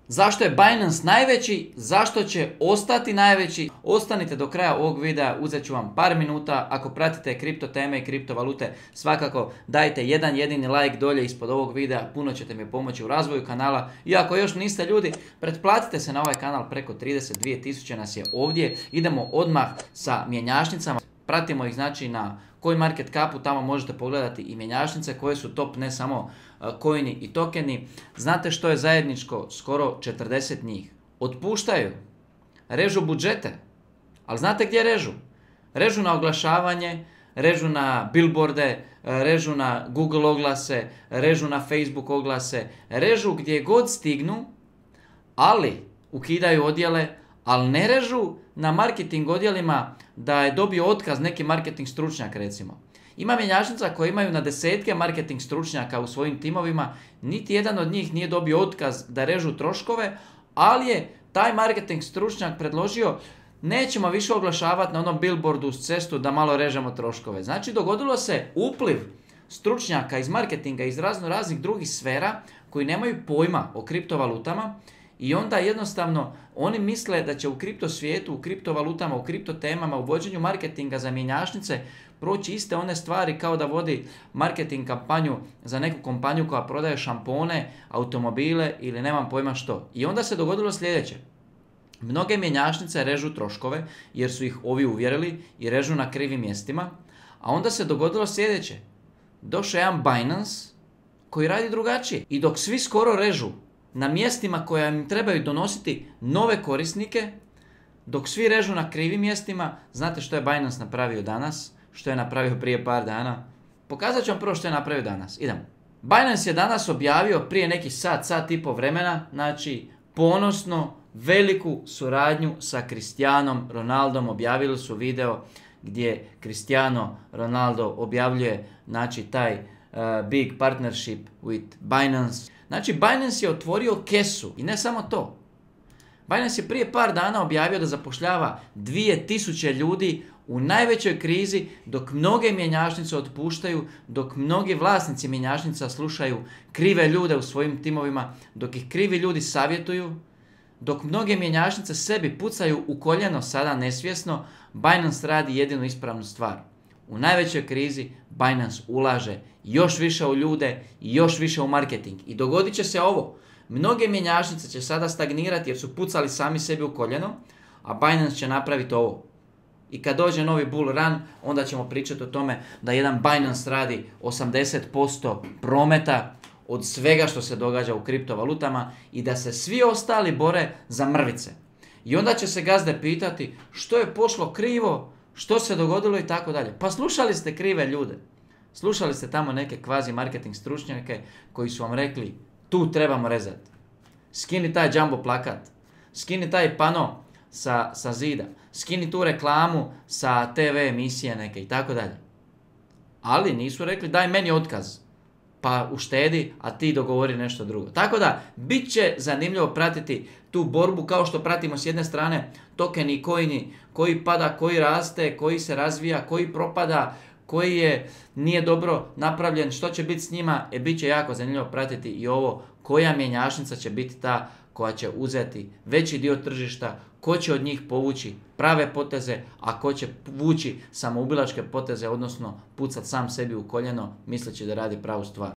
Zašto je Binance najveći? Zašto će ostati najveći? Ostanite do kraja ovog videa, uzet ću vam par minuta. Ako pratite kripto teme i kriptovalute, svakako dajte jedan jedini like dolje ispod ovog videa, puno ćete mi pomoći u razvoju kanala. I ako još niste ljudi, pretplatite se na ovaj kanal, preko 32.000 nas je ovdje. Idemo odmah sa mjenjačnicama. Pratimo ih znači na CoinMarketCapu, tamo možete pogledati i mjenjačnice koje su top, ne samo coini i tokeni. Znate što je zajedničko? Skoro 40 njih. Otpuštaju, režu budžete, ali znate gdje režu? Režu na oglašavanje, režu na billboarde, režu na Google oglase, režu na Facebook oglase, režu gdje god stignu, ali ukidaju odjele, ali ne režu na marketing odjelima da je dobio otkaz neki marketing stručnjak recimo. Ima mjenjačnica koji imaju na desetke marketing stručnjaka u svojim timovima, niti jedan od njih nije dobio otkaz da režu troškove, ali je taj marketing stručnjak predložio nećemo više oglašavati na onom billboardu uz cestu da malo režemo troškove. Znači dogodilo se upliv stručnjaka iz marketinga, iz raznih drugih sfera koji nemaju pojma o kriptovalutama. I onda jednostavno oni misle da će u kripto svijetu, u kriptovalutama, u kripto temama, u vođenju marketinga za mjenjačnice proći iste one stvari kao da vodi marketing kampanju za neku kompaniju koja prodaje šampone, automobile ili nemam pojma što. I onda se dogodilo sljedeće. Mnoge mjenjačnice režu troškove jer su ih ovi uvjerili i režu na krivim mjestima. A onda se dogodilo sljedeće. Došao jedan Binance koji radi drugačije. I dok svi skoro režu na mjestima koja im trebaju donositi nove korisnike, dok svi režu na krivim mjestima, znate što je Binance napravio danas? Što je napravio prije par dana? Pokazat ću vam prvo što je napravio danas. Idemo. Binance je danas objavio prije neki sat i pol vremena, znači ponosno veliku suradnju sa Cristianom Ronaldom. Objavili su video gdje Cristiano Ronaldo objavljuje znači taj big partnership with Binance. Znači Binance je otvorio kesu i ne samo to. Binance je prije par dana objavio da zapošljava 2000 ljudi u najvećoj krizi, dok mnoge mjenjačnice otpuštaju, dok mnogi vlasnici mjenjačnica slušaju krive ljude u svojim timovima, dok ih krivi ljudi savjetuju, dok mnoge mjenjačnice sebi pucaju u koljeno sada nesvjesno, Binance radi jedinu ispravnu stvar. U najvećoj krizi Binance ulaže još više u ljude i još više u marketing. I dogodit će se ovo. Mnoge mjenjačnice će sada stagnirati jer su pucali sami sebi u koljeno, a Binance će napraviti ovo. I kad dođe novi bull run, onda ćemo pričati o tome da jedan Binance radi 80% prometa od svega što se događa u kriptovalutama i da se svi ostali bore za mrvice. I onda će se gazde pitati što je pošlo krivo, što se dogodilo i tako dalje. Pa slušali ste krive ljude. Slušali ste tamo neke kvazi marketing stručnjake koji su vam rekli tu trebamo rezati. Skini taj jumbo plakat. Skini taj pano sa zida. Skini tu reklamu sa TV emisije neke i tako dalje. Ali nisu rekli daj meni otkaz. Pa uštedi, a ti dogovori nešto drugo. Tako da, bit će zanimljivo pratiti tu borbu kao što pratimo s jedne strane tokeni i coini, koji pada, koji raste, koji se razvija, koji propada, koji nije dobro napravljen, što će biti s njima, bit će jako zanimljivo pratiti i ovo koja mjenjačnica će biti ta koja će uzeti veći dio tržišta, ko će od njih povući prave poteze, a ko će vući samoubilačke poteze, odnosno pucat sam sebi u koljeno misleći da radi pravu stvar.